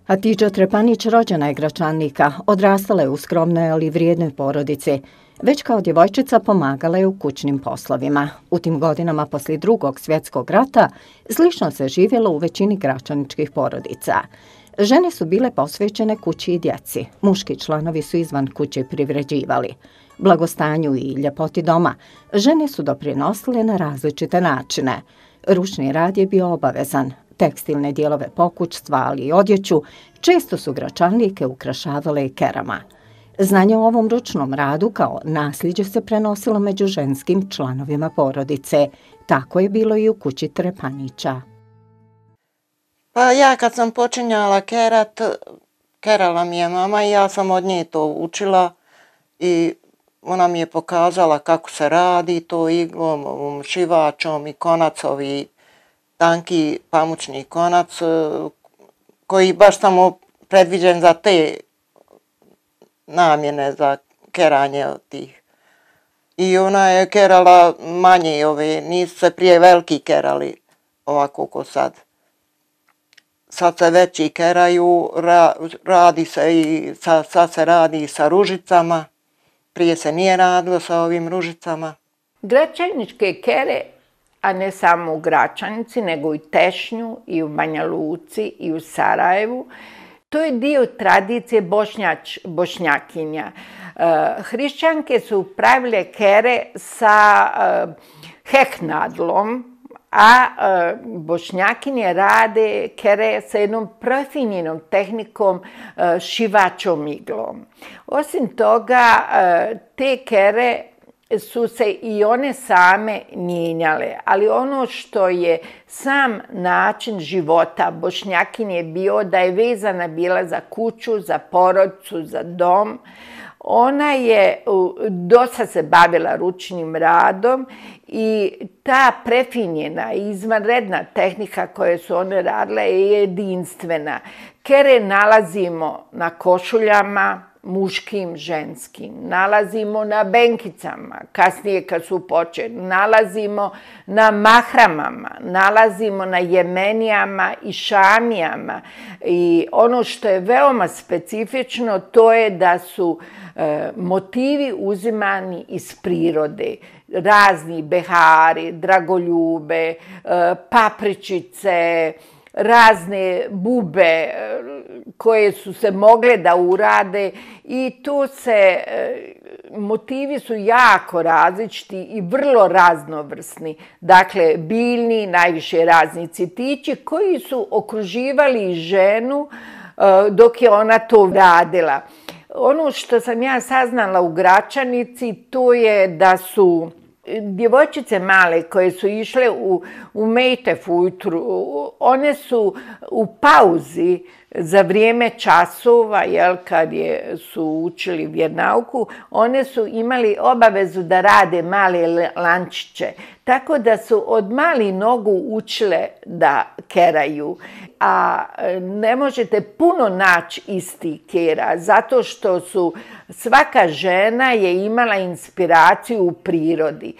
Hatiđa Trepanić rođena je Gračannika, odrastala je u skromnoj ali vrijednoj porodici. Već kao djevojčica pomagala je u kućnim poslovima. U tim godinama poslije Drugog svjetskog rata slično se živjelo u većini gračaničkih porodica. Žene su bile posvećene kući i djeci, muški članovi su izvan kuće privređivali. Blagostanju i ljepoti doma žene su doprinosile na različite načine. Ručni rad je bio obavezan. Tekstilne dijelove pokućstva, ali i odjeću, često su Gračanlijke ukrašavale i kerama. Znanje o ovom ručnom radu kao nasljeđe se prenosilo među ženskim članovima porodice. Tako je bilo i u kući Trepanića. Pa ja kad sam počinjala kerat, kerala mi je mama i ja sam od nje to učila i ona mi je pokazala kako se radi to iglom, šivačom i konacovi, tanki pamučni konac koji baš samo predviđen za te namjene, za keranje od tih. I ona je kerala manje nisu se prije veliki kerali ovako ko sad. Sad se veći keraju, radi se i sad se radi sa ružicama, prije se nije radilo sa ovim ružicama. Gračaničke kere, a ne samo u Gračanici, nego i Tešnju, i u Banja Luci, i u Sarajevu. To je dio tradicije bošnjakinja. Hrišćanke su pravile kere sa hehnadlom, a bošnjakinje rade kere sa jednom profinjenom tehnikom šivačom iglom. Osim toga, te kere su se i one same mijenjale, ali ono što je sam način života bošnjakinje bio da je vezana bila za kuću, za porodicu, za dom. Ona je dosta se bavila ručnim radom i ta prefinjena i izvanredna tehnika koju su one radile je jedinstvena. Kere nalazimo na košuljama, muškim, ženskim, nalazimo na benkicama, kasnije kad su počeli, nalazimo na mahramama, nalazimo na jemenijama i šamijama. I ono što je veoma specifično to je da su motivi uzimani iz prirode. Razni behari, dragoljube, papričice, razne bube koje su se mogle da urade i tu se motivi su jako različiti i vrlo raznovrsni. Dakle, biljni, najviše razni cvjetići koji su okruživali ženu dok je ona to radila. Ono što sam ja saznala u Gračanici to je da su djevojčice male koje su išle u mejtef ujutru, one su u pauzi za vrijeme časova, kad su učili vjernauku, one su imali obavezu da rade male lančiće. Tako da su od malih nogu učile da keraju. A ne možete puno naći isti kera, zato što svaka žena je imala inspiraciju u prirodi.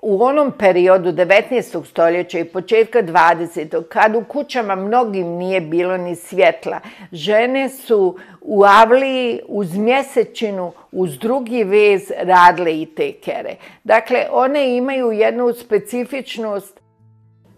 U onom periodu 19. stoljeća i početka 20. kad u kućama mnogim nije bilo ni svjetla, žene su u avliji uz mjesečinu, uz drugi vez radile i te kere. Dakle, one imaju jednu specifičnost.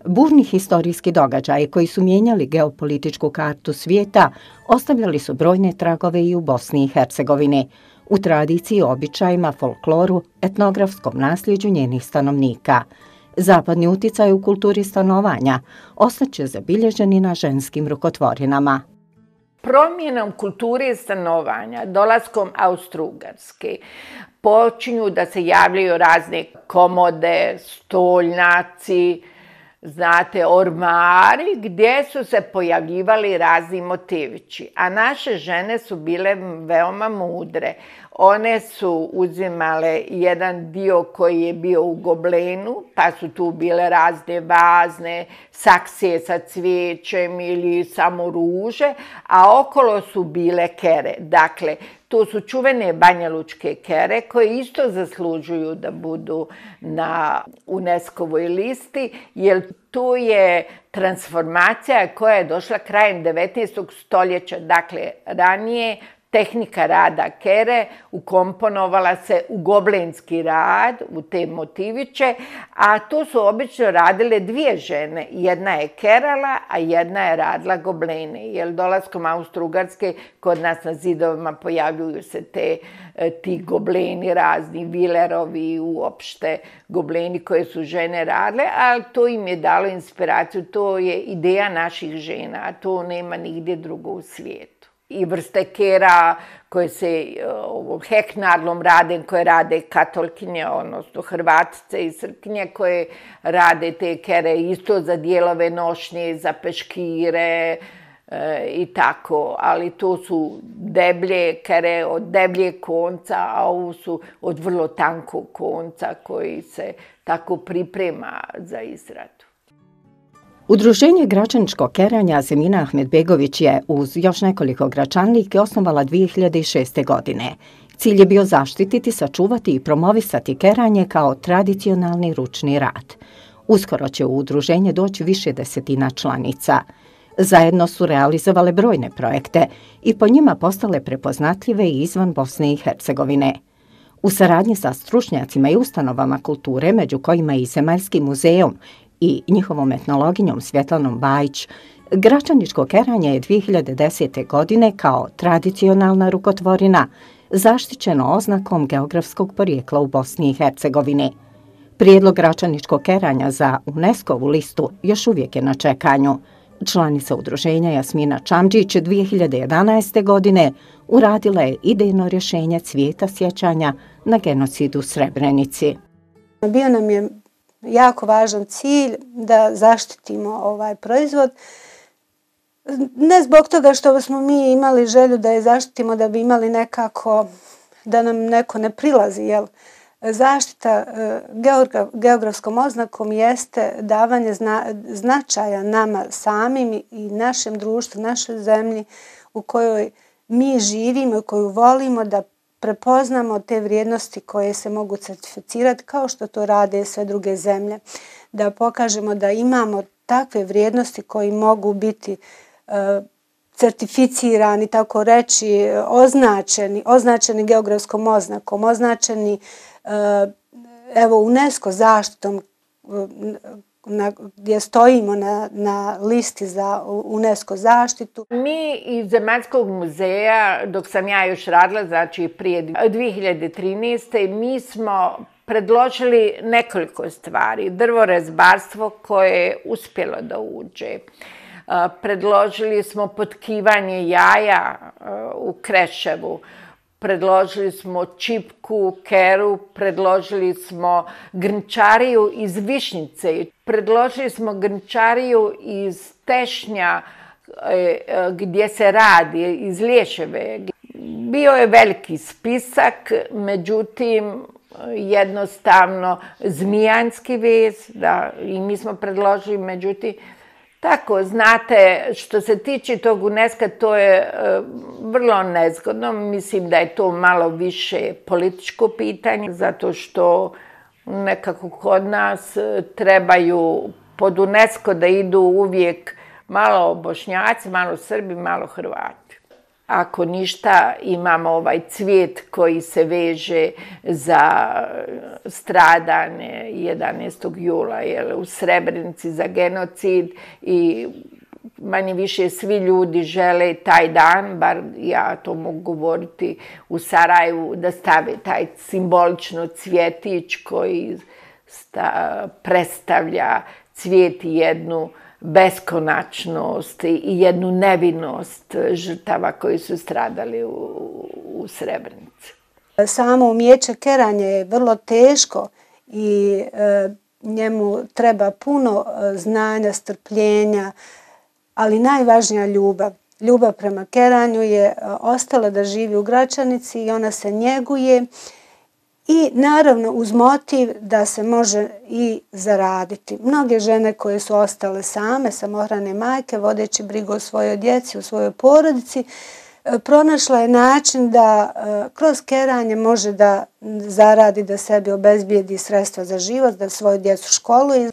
Burni historijski događaji koji su mijenjali geopolitičku kartu svijeta ostavljali su brojne tragove i u Bosni i Hercegovini, u tradiciji, običajima, folkloru, etnografskom nasljeđu njenih stanovnika. Zapadni uticaj u kulturi stanovanja ostaće zabilježeni na ženskim rukotvorinama. Promjenom kulture stanovanja, dolaskom Austro-Ugarske, počinju da se javljaju razne komode, stolnjaci, znate, ormari gdje su se pojavljivali razni motivići. A naše žene su bile veoma mudre. One su uzimale jedan dio koji je bio u goblenu, pa su tu bile razne vazne, saksije sa cvijećem ili samo ruže, a okolo su bile kere. Dakle, To su čuvene banjalučke kere koje isto zaslužuju da budu na UNESCO-voj listi, jer to je transformacija koja je došla krajem 19. stoljeća. Dakle, ranije tehnika rada kere ukomponovala se u goblenski rad, u te motiviće, a to su obično radile dvije žene. Jedna je kerala, a jedna je radila goblene. Jer dolaskom Austro-Ugarske kod nas na zidovima pojavljuju se ti gobleni razni, vilerovi, uopšte gobleni koje su žene radile, ali to im je dalo inspiraciju. To je ideja naših žena, a to nema nigdje drugo u svijetu. I vrste kera koje se heknarlom rade, koje rade katolkinje, odnosno Hrvatice i Srpkinje koje rade te kere isto za dijelove nošnje, za peškire i tako. Ali to su deblje kere od debljeg konca, a ovo su od vrlo tankog konca koji se tako priprema za izradu. Udruženje gračaničkog keranja Zemina Ahmedbegović je uz još nekoliko gračanlike osnovala 2006. godine. Cilj je bio zaštititi, sačuvati i promovisati keranje kao tradicionalni ručni rad. Uskoro će u udruženje doći više desetina članica. Zajedno su realizovale brojne projekte i po njima postale prepoznatljive i izvan Bosne i Hercegovine. U saradnji sa stručnjacima i ustanovama kulture, među kojima i Zemaljski muzejom, i njihovom etnologinjom Svjetlanom Bajić, gračaničko keranje je 2010. godine kao tradicionalna rukotvorina zaštićeno oznakom geografskog porijekla u Bosni i Hercegovini. Prijedlog gračaničkog keranja za UNESCO-vu listu još uvijek je na čekanju. Članica udruženja Jasmina Čamđić 2011. godine uradila je idejno rješenje cvijeta sjećanja na genocid u Srebrenici. Bio nam je jako važan cilj da zaštitimo ovaj proizvod. Ne zbog toga što smo mi imali želju da je zaštitimo, da bi imali nekako, da nam neko ne prilazi, jel? Zaštita geografskom oznakom jeste davanje značaja nama samim i našem društvu, našoj zemlji u kojoj mi živimo i koju volimo, da prepoznamo te vrijednosti koje se mogu certificirati kao što to rade sve druge zemlje. Da pokažemo da imamo takve vrijednosti koji mogu biti certificirani, tako reći, označeni geografskom oznakom, označeni UNESCO zaštitom gdje stojimo na listi za UNESCO zaštitu. Mi iz Zemaljskog muzeja, dok sam ja još radila, znači prije 2013. mi smo predložili nekoliko stvari. Drvorezbarstvo koje je uspjelo da uđe. Predložili smo potkivanje jaja u Kreševu. Predložili smo čipku, keru, predložili smo grnčariju iz Višnjice, predložili smo grnčariju iz Tešnja gdje se radi, iz Liješeve. Bio je veliki spisak, međutim jednostavno zmijanski vez, da, i mi smo predložili, međutim tako, znate, što se tiče tog UNESCO, to je vrlo nezgodno. Mislim da je to malo više političko pitanje, zato što nekako kod nas trebaju pod UNESCO da idu uvijek malo Bošnjaci, malo Srbi, malo Hrvati. Ako ništa, imamo ovaj cvijet koji se veže za stradanje 11. jula u Srebrenici, za genocid i manje više svi ljudi žele taj dan, bar ja to mogu govoriti u Sarajevu, da stave taj simbolično cvjetić koji predstavlja cvijet i jednu beskonačnost i jednu nevinost žrtava koji su stradali u Srebrenici. Samo umijeće keranja je vrlo teško i njemu treba puno znanja, strpljenja, ali najvažnija ljubav. Ljubav prema keranju je ostala da živi u Gračanici i ona se njeguje. I naravno uz motiv da se može i zaraditi. Mnoge žene koje su ostale same, samohrane majke, vodeći brigu o svojoj djeci, o svojoj porodici, pronašla je način da kroz keranje može da zaradi, da sebi obezbijedi sredstva za život, da svoju djecu školuje.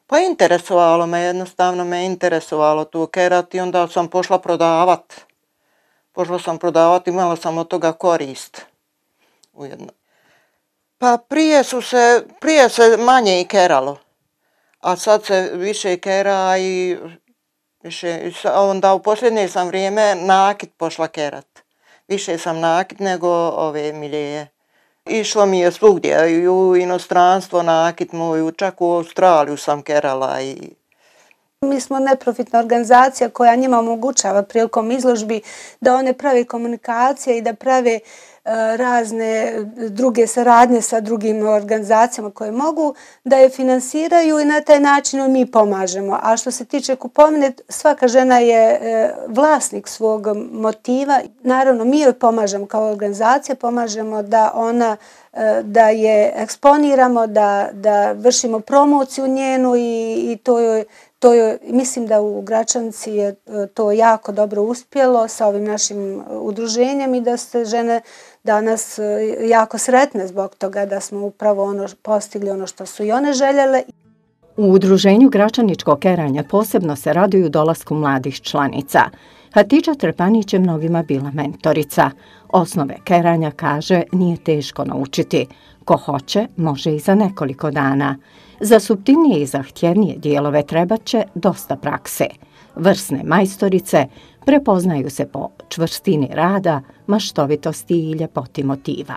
Pa interesovalo me, jednostavno me interesovalo tu kerat i onda sam pošla prodavat. Imala sam od toga korist ujedno. Pa prije se manje i keralo, a sad se više kera i onda u posljednje sam vrijeme nakit pošla kerat. Više sam nakit nego ove milije. Išlo mi je svugdje, i u inostranstvo nakit moju, čak u Australiju sam kerala. Mi smo neprofitna organizacija koja njima omogućava prilikom izložbi da one prave komunikacije i da prave razne druge saradnje sa drugim organizacijama koje mogu da je finansiraju i na taj način mi pomažemo. A što se tiče kupovine, svaka žena je vlasnik svog motiva. Naravno, mi joj pomažemo kao organizacija, pomažemo da je eksponiramo, da vršimo promociju njenu i mislim da u Gračanici je to jako dobro uspjelo sa ovim našim udruženjem i da se žene danas jako sretne zbog toga da smo upravo postigli ono što su i one željele. U udruženju Gračaničkog keranja posebno se raduju dolasku mladih članica. Hatidža Trpanić je mnogima bila mentorica. Osnove keranja, kaže, nije teško naučiti. Ko hoće, može i za nekoliko dana. Za suptilnije i zahtjevnije dijelove trebat će dosta prakse. Vrsne majstorice prepoznaju se po čvrstini rada, maštovitosti i ljepoti motiva.